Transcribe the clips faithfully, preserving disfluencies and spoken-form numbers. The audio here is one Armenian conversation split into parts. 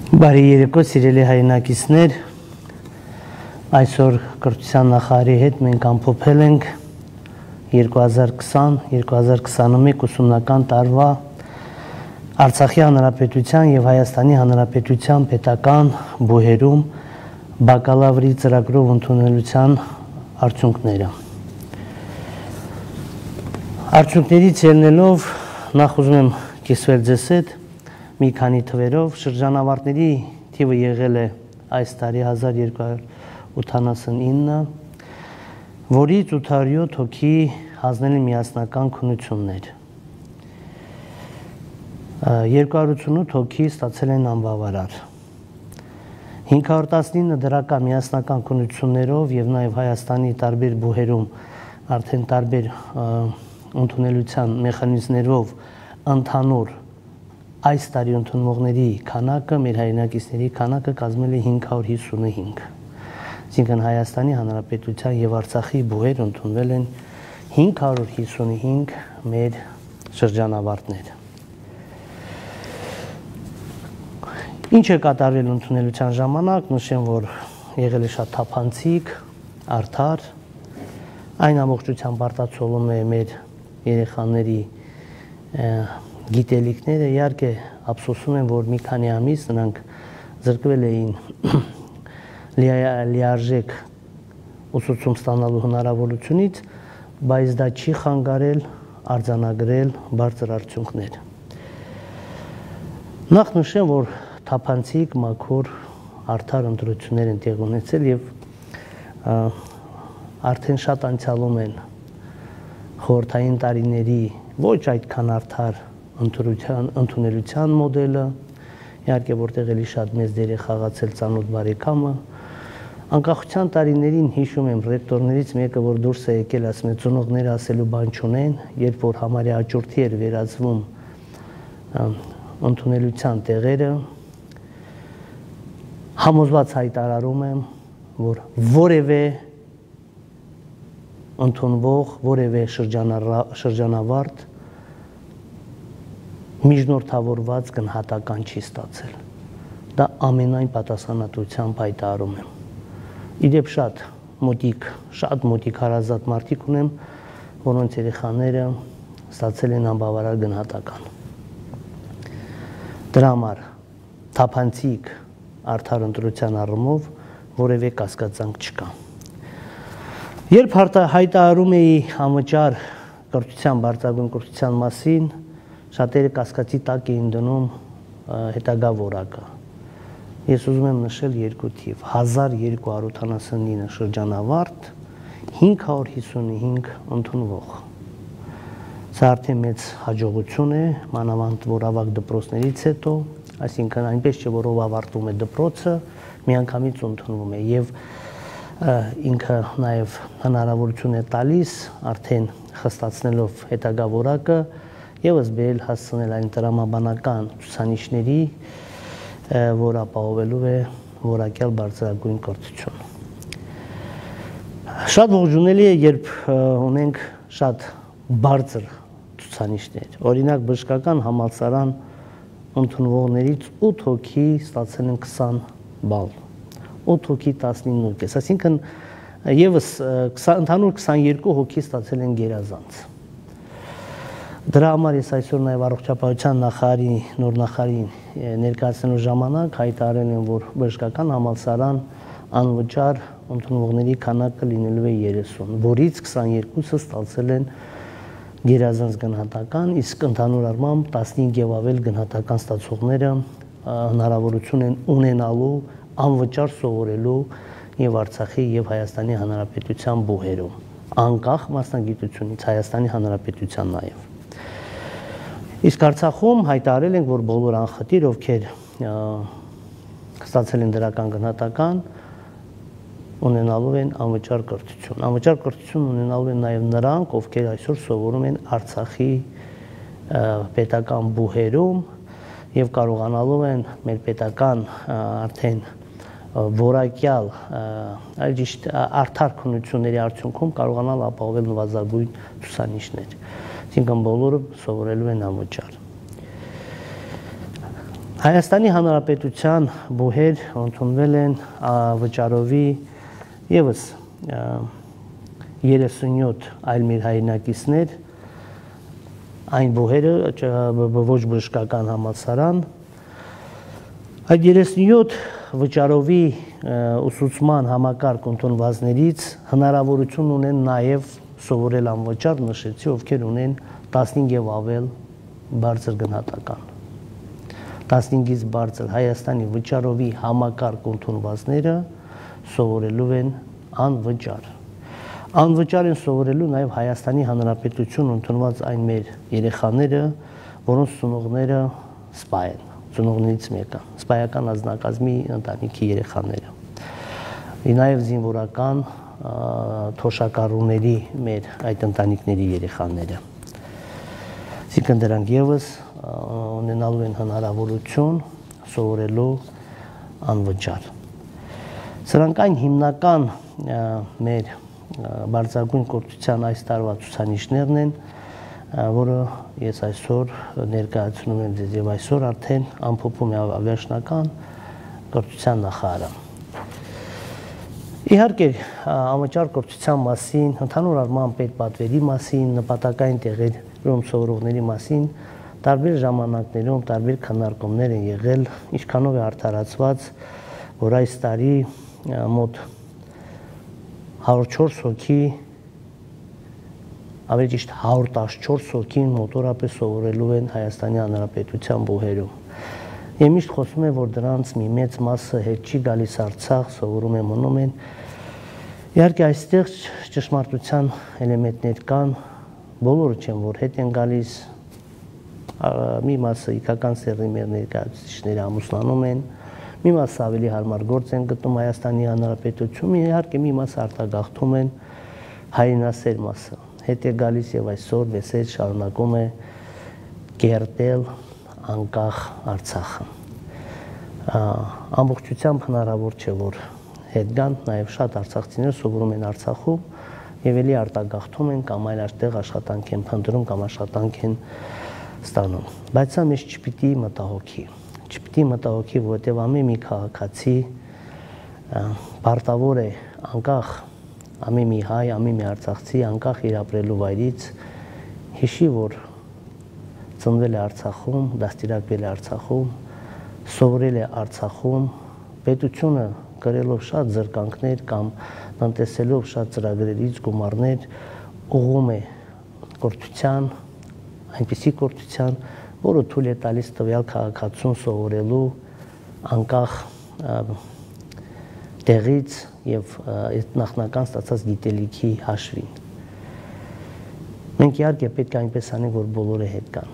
Բարի երեկո, սիրելի հայրենակիցներ, այսօր կրթության նախարարի հետ մենք ամփոփել ենք երկու հազար քսան երկու հազար քսանմեկ ուսումնական տարվա Արցախի Հանրապետության և Հայաստանի Հանրապետության պետական բուհերում բակալավրի ծրագրով ընդունելության արդյունքները։ Արդյունքներից ելնելով նախ ուզում եմ կիսվել ձեզ հետ մի քանի թվերով, շրջանավարտների թիվը եղել է այս տարի հազար երկու հարյուր ութանասունինը, որից ութ հարյուր յոթ հոգի հանձնել են միասնական քննություններ։ երկու հարյուր ութսունութ հոգի ստացել են անբավարար։ հինգ հարյուր տասնինը դրական միասնական քննություններով և նաև Հայաստանի տարբեր բուհերում արդեն տարբեր ընդունելության մեխանիզմներով ընդհանուր այս տարի ընդունվողների քանակը, մեր հայրենակիցների քանակը կազմել է հինգ հարյուր հիսունհինգ։ Այսինքն Հայաստանի Հանրապետության և Արցախի բուհեր ընդունվել են հինգ հարյուր հիսունհինգ մեր շրջանավարտներ։ Ինչ է կատարվել ընդունելության ժամանակ, նշեմ, որ եղել է շատ թափանցիկ, արդար, այն ամբողջությամբ արտացոլում է մեր երեխաների գիտելիքները, իհարկե ափսոսում եմ, որ մի քանի ամիս նրանք զրկվել էին լիարժեք ուսուցում ստանալու հնարավորությունից, բայց դա չի խանգարել արձանագրել բարձր արդյունքներ։ Նախ նշեմ, որ թափանցիկ, մաքուր, արդար ընտրություններ են տեղի ունեցել և արդեն շատ անցյալում են խորհրդային տարիների ոչ այդքան արդար ընդունելության մոդելը, իհարկե որտեղ էլի շատ մեծ դեր է խաղացել ծանոթ բարեկամը։ Անկախության տարիներին հիշում եմ ռեկտորներից մեկը, որ դուրս է եկել, ասում է, ծնողները ասելու բան չունեն, երբ որ համարյա աճուրդի էր վերածվում ընդունելության տեղերը, համոզված հայտարարում եմ, որ որևէ ընդունվող, որևէ շրջանավարտ միջնորդավորված գնահատական չի ստացել։ Դա ամենայն պատասխանատվությամբ հայտարարում եմ։ Իդեպ շատ մոտիկ, շատ մոտիկ հարազատ մարդիկ ունեմ, որոնց երեխաները ստացել են անբավարար գնահատական։ Դրա համար թափանցիկ արդար ընտրության առումով որևէ կասկածանք չկա։ Երբ հայտարարում էի անվճար կրթության, բարձրագույն կրթության մասին, շատերը կասկածի տակ էին դնում հետագա որակը։ Ես ուզում եմ նշել երկու թիվ, հազար երկու հարյուր ութանասունինը շրջանավարտ, հինգ հարյուր հիսունհինգ ընդունվող։ Սա արդեն մեծ հաջողություն է, մանավանդ որ ավագ դպրոցներից հետո, այսինքն այնպես չէ, որ ով ավարտում է դպրոցը, միանգամից ընդունվում է և ինքը նաև հնարավորություն է տալիս արդեն խստացնելով հետագա որակը ևս բերել հասցնել այն տրամաբանական ցուցանիշների, որ ապահովելու է որակյալ բարձրագույն կրթություն։ Շատ ողջունելի է, երբ ունենք շատ բարձր ցուցանիշներ։ Օրինակ բժշկական համալսարան ընդունվողներից ութ հոգի ստացել են քսան բալ, ութ հոգի տասնինը կես, այսինքն ևս ընդհանուր քսաներկու հոգի ստացել են գերազանց։ Դրա համար ես այսօր նաև առողջապահության նախարարի, նոր նախարարին ներկայացնելու ժամանակ հայտարարել եմ, որ բժշկական համալսարան անվճար ընդունվողների քանակը լինելու է երեսուն, որից քսաներկուսը ստացել են գերազանց գնահատական, իսկ ընդհանուր առմամբ տասնհինգ եւ ավել գնահատական ստացողները հնարավորություն են ունենալու անվճար սովորելու եւ Արցախի եւ Հայաստանի Հանրապետության բուհերում, անկախ մասնագիտությունից, Հայաստանի Հանրապետության նաեւ։ Իսկ Արցախում հայտարարել ենք, որ բոլոր անխտիր, ովքեր ստացել են դրական գնահատական, ունենալու են անվճար կրթություն։ Անվճար կրթություն ունենալու են նաև նրանք, ովքեր այսօր սովորում են Արցախի պետական բուհերում եւ կարողանալու են մեր պետական արդեն որակյալ, այլ ճիշտ արդար քննությունների արդյունքում կարողանալ ապահովել նվազագույն ցուցանիշներ։ Այսինքն բոլորը սովորելու են անվճար։ Հայաստանի Հանրապետության բուհեր ընդունվել են վճարովի ևս երեսունյոթ այլ մեր հայրենակիցներ, այն բուհերը ոչ բժշկական համալսարան, այդ երեսունյոթ վճարովի ուսուցման համակարգ ընդունվածներից հնարավորություն ունեն նաև սովորել անվճար, նշեցի, ովքեր ունեն տասնհինգ եւ ավել բարձր գնահատական։ տասնհինգից բարձր Հայաստանի վճարովի համակարգ ընդունվածները սովորելու են անվճար։ Անվճար են սովորելու նաև Հայաստանի Հանրապետություն ընդունված այն մեր երեխաները, որոնց ծնողները սպա են, ծնողներից մեկը, սպայական անձնակազմի ընտանիքի երեխաները։ Նաև զինվորական թոշակառուների մեր այդ ընտանիքների երեխաները։ Այսինքն դրանք ևս ունենալու են հնարավորություն սովորելու անվճար։ Սրանք այն հիմնական մեր բարձրագույն կրթության այս տարվա ցուցանիշներն են, որը ես այսօր ներկայացնում եմ ձեզ եւ այսօր արդեն ամփոփում է վերջնական կրթության նախարարը։ Իհարկե, անվճար կրթության մասին, ընդհանուր առմամբ պետպատվերի մասին, նպատակային տեղերում սովորողների մասին տարբեր ժամանակներում տարբեր քննարկումներ են եղել, ինչքանով է արդարացված, որ այս տարի մոտ հարյուր չորս հոգի, ավելի ճիշտ հարյուր տասնչորս հոգին մոտորապես սովորելու են Հայաստանի Հանրապետության բուհերում։ Եմ միշտ խոսում եմ, որ դրանց մի մեծ մասը հետ չի գալիս Արցախ, սովորում են, մնում են։ Իհարկե այստեղ ճշմարտության էլեմենտներ կան, բոլորը չեն, որ հետ են գալիս, մի մասը իքական սեռի մեր ներկայացուցիչները ամուսնանում են, մի մասը ավելի հարմար գործ են գտնում Հայաստանի Հանրապետությունում, իհարկե մի մասը արտագաղթում են, հայրենասեր մասը հետ է գալիս եւ այսօր մեզ հետ շարունակում է կերտել անկախ Արցախը։ Ամբողջությամբ հնարավոր չէ, որ հետ գան, նաեւ շատ արցախցիներ սովորում են Արցախում եւ էլի արտագաղթում են կամ այլ այստեղ աշխատանք են փնտրում կամ աշխատանք են ստանում։ Բայց սա մեզ չպիտի մտահոգի։ Չպիտի մտահոգի, որովհետեւ ամեն մի քաղաքացի պարտավոր է անկախ ամեն մի հայ, ամեն մի արցախցի անկախ իր ապրելու վայրից հիշի, որ ծնվել է Արցախում, դաստիարակվել է Արցախում, սովորել է Արցախում, պետությունը կրելով շատ զրկանքներ կամ տնտեսելով շատ ծրագրերից գումարներ ուղղում է կրթության, այնպիսի կրթության, որը թույլ է տալիս տվյալ քաղաքացուն սովորելու անկախ տեղից եւ նախնական ստացած գիտելիքի հաշվին։ Մենք իհարկե պետք է այնպես անենք, որ բոլորը հետ գան։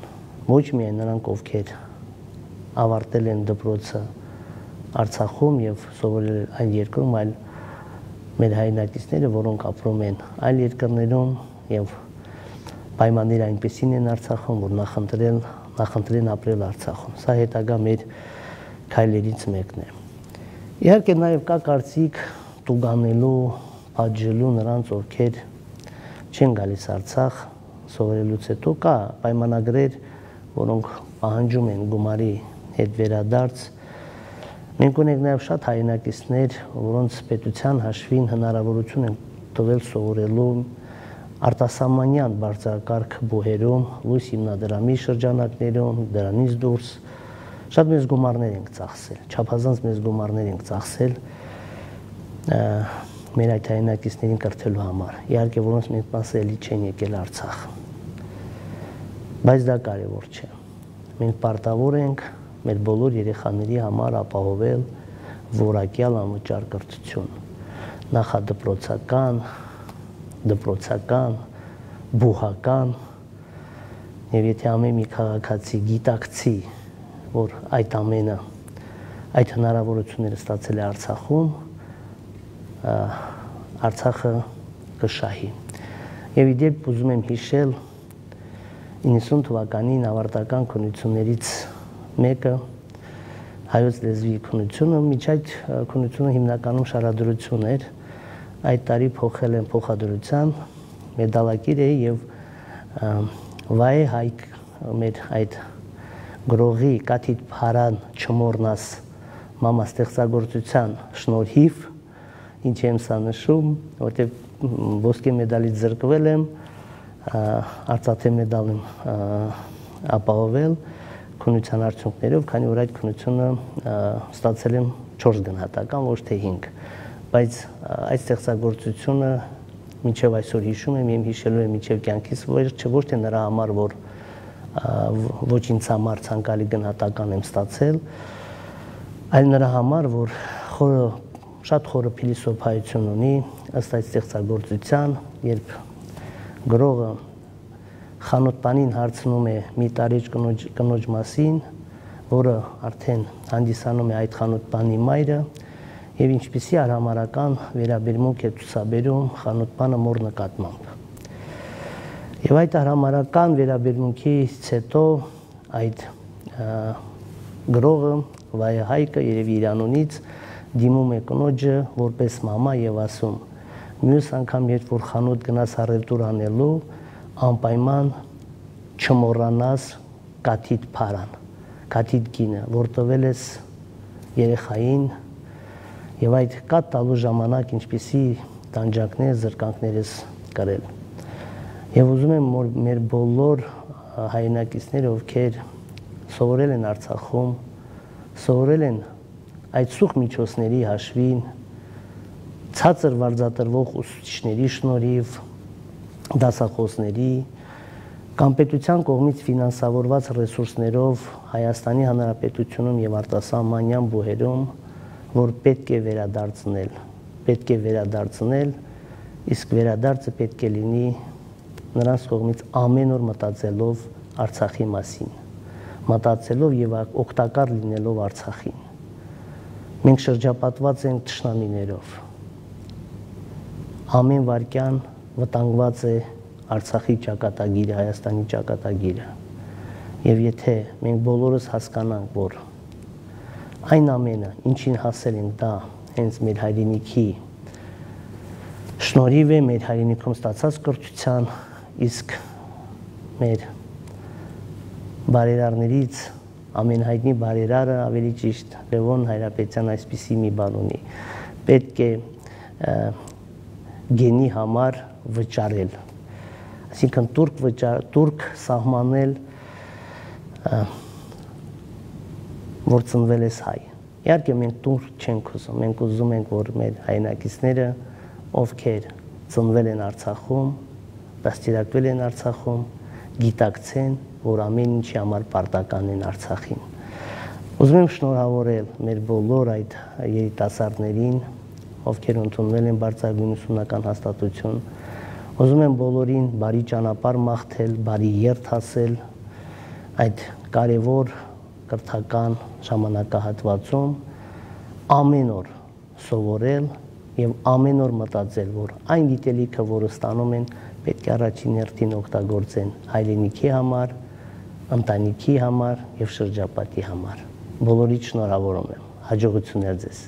Ոչ միայն նրանք, ովքեր ավարտել են դպրոցը Արցախում եւ սովորել այն երկրում, այլ մեր հայրենակիցները, որոնք ապրում են այլ երկրներում եւ պայմանները այնպեսին են Արցախում, որ նախընտրել նախընտրեն ապրել Արցախում։ Սա հետագա մեր քայլերից մեկն է։ Իհարկե նաև կա կարծիք տուգանելու, պատժելու նրանց, ովքեր չեն գալիս Արցախ սովորելուց հետո, կա պայմանագրեր, որոնք պահանջում են գումարի հետ վերադարձ։ Մենք ունենք նաև շատ հայրենակիցներ, որոնց պետության հաշվին հնարավորություն են տվել սովորելու արտասահմանյան բարձրակարգ բուհերում, լույս հիմնադրամի շրջանակներում, դրանից դուրս շատ մեծ գումարներ ենք ծախսել, չափազանց մեծ գումարներ ենք ծախսել մեր այդ հայրենակիցներին կրթելու համար։ Իհարկե, որոնց մեծ մասը էլի չեն եկել Արցախ։ Բայց դա կարևոր չէ։ Մենք պարտավոր ենք մեր բոլոր երեխաների համար ապահովել որակյալ անվճար կրթություն, նախադպրոցական, դպրոցական, բուհական, եւ եթե ամեն մի քաղաքացի գիտակցի, որ այդ ամենը, այդ հնարավորությունները ստացել է Արցախում, Արցախը կշահի։ Եվ իդեպ ուզում եմ հիշել իննսուն թվականին ավարտական քննություններից մեկը հայոց լեզվի քննությունը, միջ այդ քննությունը հիմնականում շարադրություն էր, այդ տարի փոխել են փոխադրության, մեդալակիր է եւ վայ հայք մեր այդ գրողի կաթիտ փարան չմոռնաս մամա ստեղծագործության շնորհիվ, ինչ եմ սա նշում, որտեղ ոսկե մեդալից զրկվել եմ, արծաթե մեդալ եմ ապահովել քննության արդյունքներով, քանի որ այդ քննությունը ստացել եմ չորս գնահատական, ոչ թե հինգ, բայց այդ ստեղծագործությունը մինչև այսօր հիշում եմ, եմ հիշելու եմ մինչև կյանքիս վերջը, ոչ թե նրա համար, որ ոչ ինձ համար ցանկալի գնահատական եմ ստացել, այլ նրա համար, որ խորը շատ խորը փիլիսոփայություն ունի ըստ այդ ստեղծագործության, երբ գրողը խանութպանին հարցնում է մի տարիջ կնոջ, կնոջ մասին, որը արդեն հանդիսանում է այդ խանութպանի մայրը, եւ ինչպիսի արհամարական վերաբերմունք է ցուցաբերում խանութպանը մոր նկատմամբ։ Եվ այդ արհամարական վերաբերմունքից հետո այդ գրողը Վայե Հայկը երևի իր անունից դիմում է կնոջը որպես մամա եւ ասում. մյուս անգամ երբ որ խանութ գնաս առևտուր անելու, անպայման չմոռանաս կաթիտ փարան, կաթիտ գինը, որ տվել ես երեխային, եւ այդ կաթ տալու ժամանակ ինչպիսի տանջանքներ, զրկանքներ ես կրել։ Եվ ուզում եմ որ մեր բոլոր հայրենակիցները, ովքեր սովորել են Արցախում, սովորել են այդ սուղ միջոցների հաշվին, ցածր վարձատրվող ուսուցիչների շնորհիվ, դասախոսների կամ պետության կողմից ֆինանսավորված ռեսուրսներով Հայաստանի Հանրապետությունում եւ արտասահմանյան բուհերում, որ պետք է վերադարձնել, պետք է վերադարձնել, իսկ վերադարձը պետք է լինի նրանց կողմից ամեն օր մտածելով Արցախի մասին, մտածելով եւ օգտակար լինելով Արցախին։ Մենք շրջապատված ենք թշնամիներով։ Ամեն վարքյան վտանգված է Արցախի ճակատագիրը, Հայաստանի ճակատագիրը։ Եվ եթե մենք բոլորս հասկանանք, որ այն ամենը, ինչին հասել ենք, դա հենց մեր հայրենիքի շնորհիվ է, մեր հայրենիքում ստացած կրթության, իսկ մեր բարերարներից ամենահայտնի բարերարը, ավելի ճիշտ Լևոն Հայրապետյան այսպիսի մի բան ունի. պետք է գենի համար վճարել, այսինքն турք վճար, турք սահմանել, որ ծնվել ես հայ։ Իհարկե մենք турք չենք ուզում, մենք ուզում ենք, որ մեր հայրենակիցները, ովքեր ծնվել են Արցախում, դաստիարակվել են Արցախում, գիտակցեն, որ ամեն ինչի համար պարտական են Արցախին։ Ուզում եմ շնորհավորել մեր բոլոր այդ երիտասարդներին, ովքեր ընդունվել են բարձրագույն ուսումնական հաստատություն, ուզում եմ բոլորին բարի ճանապարհ մաղթել, բարի երթ ասել այդ կարևոր կրթական ժամանակահատվածում, ամեն օր սովորել եւ ամեն օր մտածել, որ այն գիտելիքը, որը ստանում են, պետք է առաջին հերթին օգտագործեն հայրենիքի համար, ընտանիքի համար եւ շրջապատի համար։ Բոլորիդ շնորհավորում եմ։ Հաջողություններ ձեզ։